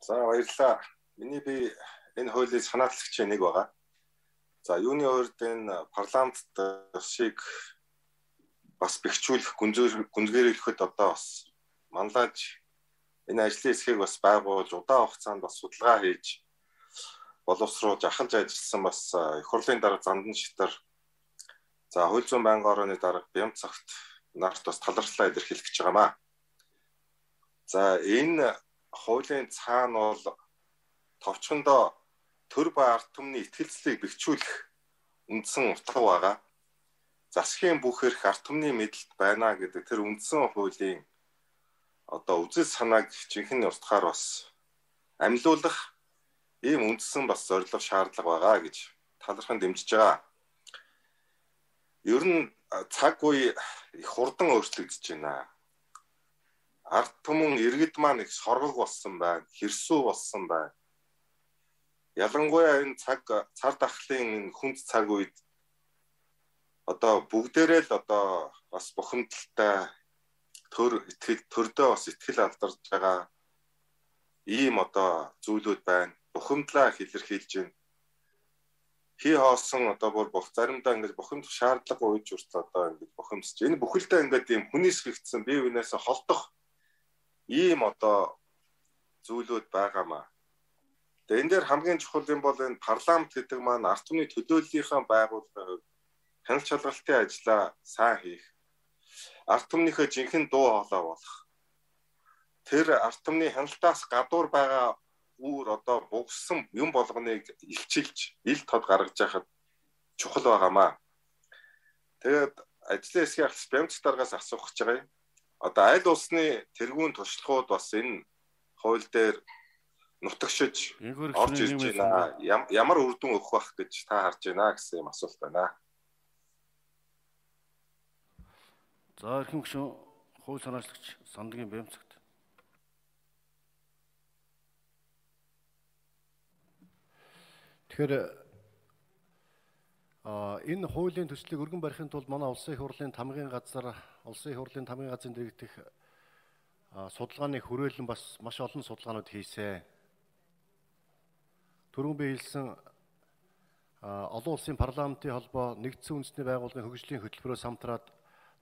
За баярлалаа. Миний би энэ хуулийг санаатлагч нэг байгаа. За юуны хувьд энэ парламентт шиг бас бэхжүүлэх, гүнзгийрүүлэхэд одоо бас манлайж энэ ажлын хэсгийг бас байгуулж удаан хугацаанд бас судалгаа хийж боловсруулж ахалж ажилласан бас их хурлын дарга Зандан Шитар за хууль зүйн байнгын орооны дарга Бямцагт нарт бас талархлаа илэрхийлэх гэж байгаамаа. За энэ хуулийн цаана бол товчхондоо төр ба ард түмний итгэлцлийг бэхжүүлэх үндсэн утга байгаа. Засгийн бүх эрх ард түмний мэдэлд байна гэдэг тэр үндсэн хуулийн одоо үзэл санааг жинхэнэ устгаар бас амьлуулах ийм үндсэн бас зорилго шаардлага байгаа гэж талархан дэмжиж байгаа. Ер нь цаг үе их хурдан өөрчлөгдөж байна. Ард түмэн иргэд маань их соргог болсон байна, хэрсүү болсон байна. Ялангуяа энэ цар тахлын хүнд цаг үед одоо бүгдээрээ л одоо бас бухимдалтай төрдөө бас итгэл алдарж байгаа ийм одоо зүйлүүд байна. Бухимдлаа илэрхийлж байна. Хий хоосон одоо бүр заримдаа ингэж бухимдах шаардлагагүй үеж хүртэл одоо ингэж бухимдсаж. Энэ бүхэлдээ ингээд ийм хүнийсгэгдсэн бие биенээс холдох ийм одоо зүйлүүд байгаамаа. Тэгээ энэ дээр хамгийн чухал юм бол энэ парламент гэдэг маань ард түмний төлөөллийнхаа байгууллагын хувьд хяналт шалгалтын ажлаа сайн хийх, ард түмнийхээ жинхэнэ дуу хоолой болох. Тэр ард түмний хяналтаас гадуур байгаа үүр одоо бугсан юм болгоныг илчилж, ил тод гаргаж яхад чухал байгаамаа. Тэгээд ажлын хэсгийн ахлах Бямц даргаас асуух гэж байгаа юм. Одоо аль улсны тэргүүн туршлагууд бас энэ хууль дээр нутагшиж орж ирж байна. Ямар үр дүн өгөх байх гэж та харж байна гэсэн юм асуулт байна. За эрхэм гишүүн хууль санаачлагч Сандгийн Бямцагт. Тэгэхээр энэ хуулийн төслийг өргөн барихын тулд манай улсын их хурлын тамгын газар, улсын их хурлын тамгын газрын дэргэдэх судалгааны хүрээлэн бас маш олон судалгаанууд хийсэн. Түрүүн би хэлсэн олон улсын парламентын холбоо нэгдсэн үндэсний байгууллагын хөгжлийн хөтөлбөрөөс хамтраад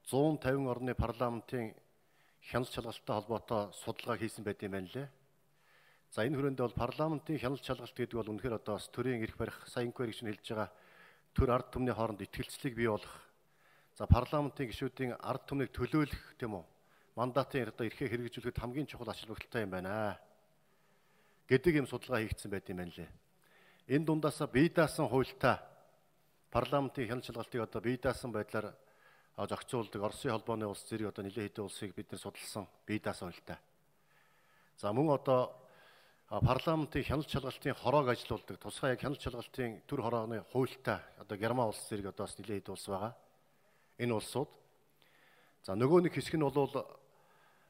150 орны парламентын хяналт шалгалттай холбоотой судалгаа хийсэн байт юм байна лээ. За энэ хүрээндээ бол парламентын хяналт шалгалт гэдэг бол үнэхээр одоо төрийн эрх барих, сайн инквайри гэж хэлж байгаа төр ард түмний хооронд итгэлцлийг бий болгох. За парламентын гишүүдийн ард түмнийг төлөөлөх тийм үү? Мандатын одоо эрхээ хэрэгжүүлэхэд хамгийн чухал ач холбогдолтой юм байна гэдэг юм судалгаа хийгдсэн байт юм байна лээ. Энэ дундаасаа бие даасан хуультай парламентын хяналт шалгалтыг одоо бие даасан байдлаар зохицуулдаг Оросын холбооны улс зэрэг одоо нэлээд хэдэн улсыг бид нар судалсан бие даасан хуультай. За мөн одоо парламентын хяналт шалгалтын хороог ажилуулдаг тусгай яг хяналт шалгалтын төр хорооны хуультай одоо Герман улс зэрэг одоо бас нэлээд хэдэн улс байгаа. Энэ улсууд. За нөгөө нэг хэсэг нь бол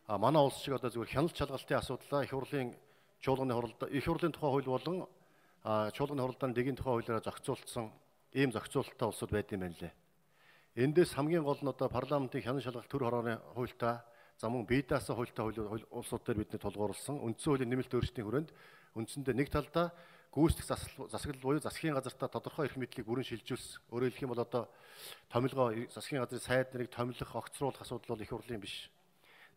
манай улс шиг одоо зөвхөн хяналт шалгалтын асуудлаа их хурлын чуулганы хуралд их хурлын тухай хууль болон чуулганы хуралдааны дэгийн тухай хуулиараа зохицуулсан ийм зохицуулалттай улсууд байд юм байна лээ. Эндээс хамгийн гол нь одоо парламентын хяналт шалгалт төр хорооны хуультай за мөн бие даасан хуультай улсууд дээр бидний тулгуурласан үндсэн хуулийн нэмэлт өөрчлөлтийн хүрээнд үндсэндээ нэг талдаа гүйцэтгэх засаглал буюу засгийн газартаа тодорхой эрх мэдлийг бүрэн шилжүүлсэн. Өөрөөр хэлэх юм бол одоо томилгоо засгийн газрын сайд нарыг томилох, огцруулах асуудал бол их хурлын биш.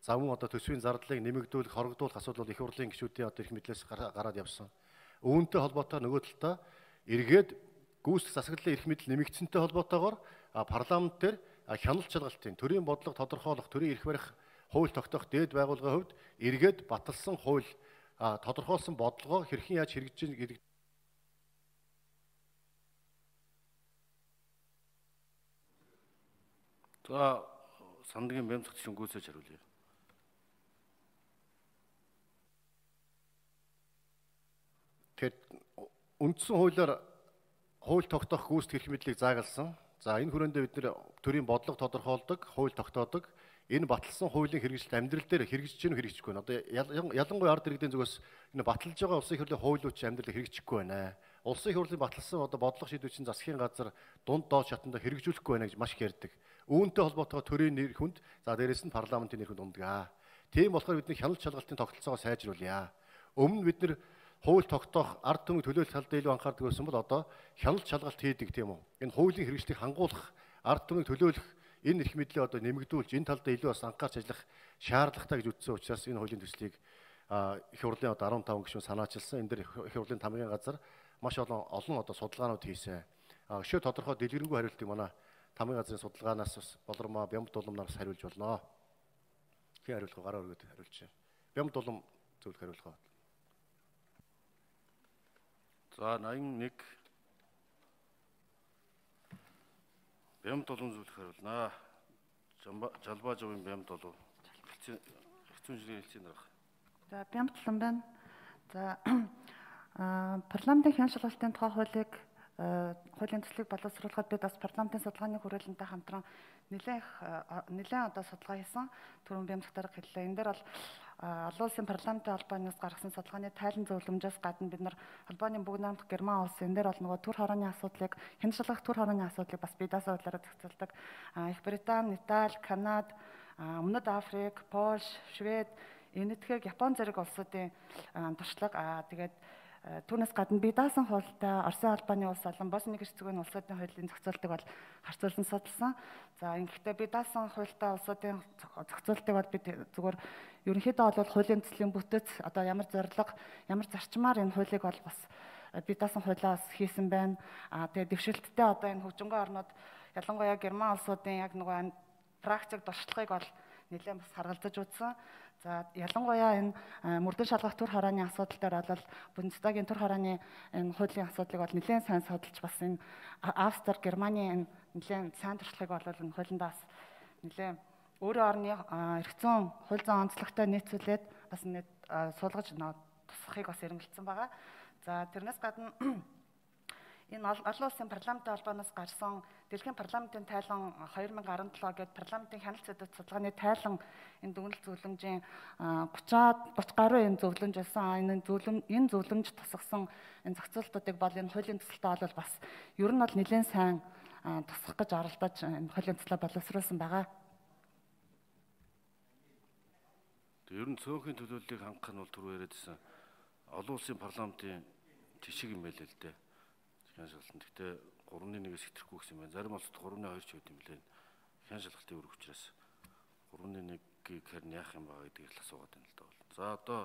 За мөн одоо төсвийн зардлыг нэмэгдүүлэх, хорогдуулах асуудал бол их хурлын гишүүдийн одоо эрх мэдлээс гараад явсан. Үүнтэй холбоотой нөгөө талдаа эргээд гүйцэтгэх засаглалын эрх мэдэл нэмэгдсэнтэй холбоотойгоор парламент дээр хяналт шалгалтын төрийн бодлого тодорхойлох, төрийн эрх барих хууль тогтоох дээд байгууллагын хувьд эргээд баталсан хууль тодорхойлсон бодлогоо хэрхэн яаж хэрэгжиж гэдэг. За Сандгийн Бямцагт шүнгүүсэж хариулъя. Тэгэхээр үндсэн хуулиар хууль тогтоох гүйцэтгэх эрх мэдлийг заагалсан. За энэ хүрээндээ бид нэр төрийн бодлого тодорхойлдог, хууль тогтоодог. Энэ баталсан хуулийн хэрэгжилт амьдрал дээр хэрэгжиж гэнэ хэрэгжихгүй байна. Одоо ялангуяа ард иргэдийн зүгээс энэ баталж байгаа улсын их хурлын хуулиуд чинь амьдралыг хэрэгжихгүй байна. Улсын их хурлын баталсан одоо бодлого шийдвэр чинь засгийн газар дунд доод шатанда хэрэгжүүлэхгүй байна гэж маш их ярьдаг. Үүнтэй холбоотойгоо төрийн нэр хүнд за дээрэс нь парламентын нэр хүнд ундгаа. Тийм болохоор бидний хяналт шалгалтын тогтолцоогоо сайжруулъя. Өмнө бид нэр хууль тогтоох ард түмний төлөөлөх талд илүү анхаардаг байсан бол одоо хяналт шалгалт хийдэг тийм үү. Энэ хуулийн хэрэгжлийг хангуулах, ард түмний төлөөлөх энэ эрх мэдлийг одоо нэмэгдүүлж энэ талд илүү бас анхаарч ажиллах шаардлагатай гэж үзсэн учраас энэ хуулийн төслийг их хурлын одоо 15 гишүүн санаачилсан. Энэ дээр их хурлын тамгын газар маш олон одоо судалгаанууд хийсэн. Өшөө тодорхой дэлгэрэнгүй хариултыг манай тамгын газрын судалгаанаас бас болормоо Бямб Дуламнаас хариулж болно. Хин хариулах гараа өргөд хариулж байна. Бямб Дулам зөвлөх хариулах. За 81 Бямб Дулам зөвлөх хариулнаа. Жалбаажовын Бямб Дулам. Хэцүү жирийн хэлцэн дарах. За Бямб Дулам байна. За парламентын хяналт шалгалтын тухай хуулийн төслийг боловсруулахад бид бас парламентын судалгааны хүрээлэнтэй хамтран нэлээд одоо судалгаа хийсэн. Түрүүн Бямб дахь хэллээ. Энэ дээр бол олон улсын парламентын холбооноос гаргасан судалгааны тайлан зөвлөмжөөс гадна бид нар холбооны бүгд найрамдах Герман улс энэ дээр бол нөгөө төр хорооны асуудлыг хяналт шалгах төр хорооны асуудлыг бас бие даасан байдлаараа зохицуулдаг. Их Британи, Итали, Канада, Өмнөд Африк, Польш, Швед, Энэтхэг, Япон зэрэг улсуудын туршлага тэгээд түүнээс гадна бие даасан хуультай Оросын албаны улс болон Босни Герцеговины улсуудын хуулийн зохицуултыг бол харьцуулсан судалсан. За ингэхдээ бие даасан хуультай улсуудын зохицуултыг бол бид зүгээр ерөнхийдөө бол хуулийн төслийн бүтэц одоо ямар зорилго, ямар зарчмаар энэ хуулийг бол бас бие даасан хуулиас хийсэн байна. Тэгээд дэвшилттэй одоо энэ хөгжингөө орнууд ялангуяа Герман улсуудын яг нөгөө практик туршлагыг бол нэлээд бас харгалзаж үзсэн. За ялангуяа энэ мөрдөн шалгах төр хорооны асуудал дээр бол Бундестагийн төр хорооны энэ хуулийн асуудлыг бол нэлээд сайн судалж бас энэ Австри, Германы энэ нэлээд сайн туршлагыг бол энэ хуулиндаа бас нэлээд өөрийн орны эрх зүйн хууль зүйн онцлогтой нийцүүлээд бас нэг суулгаж тусахыг бас эрмэлзсэн байгаа. За тэрнээс гадна энэ олон улсын парламентын холбооноос гарсан дэлхийн парламентын тайлан 2017 гээд парламентын хяналт сэдвүүд судалгааны тайлан энэ дүгнэлт зөвлөмжийн 30 гаруй энэ зөвлөмж байсан. Энэ зөвлөмж тусгасан энэ зохицуултуудыг бол энэ хуулийн төсөлтөд бол бас ер нь бол нэлээд сайн тусгах гэж оролдож энэ хуулийн төслөө боловсруулсан байгаа. Ер нь цөөхөн төлөөллийг хангах нь бол түрүү яриадсэн олон улсын парламентын жишг юм байлээ л дээ. Хяналт шалгалт. Гэхдээ 3-1-ээс хэтрэхгүй гэсэн юм байна. Зарим улсад 3-2 ч үүд юм лээ. Хяналт шалгалтын үүрэг учраас 3-1-ийг харин яах юм байгаа гэдгийг л асуугаад байна л да. За одоо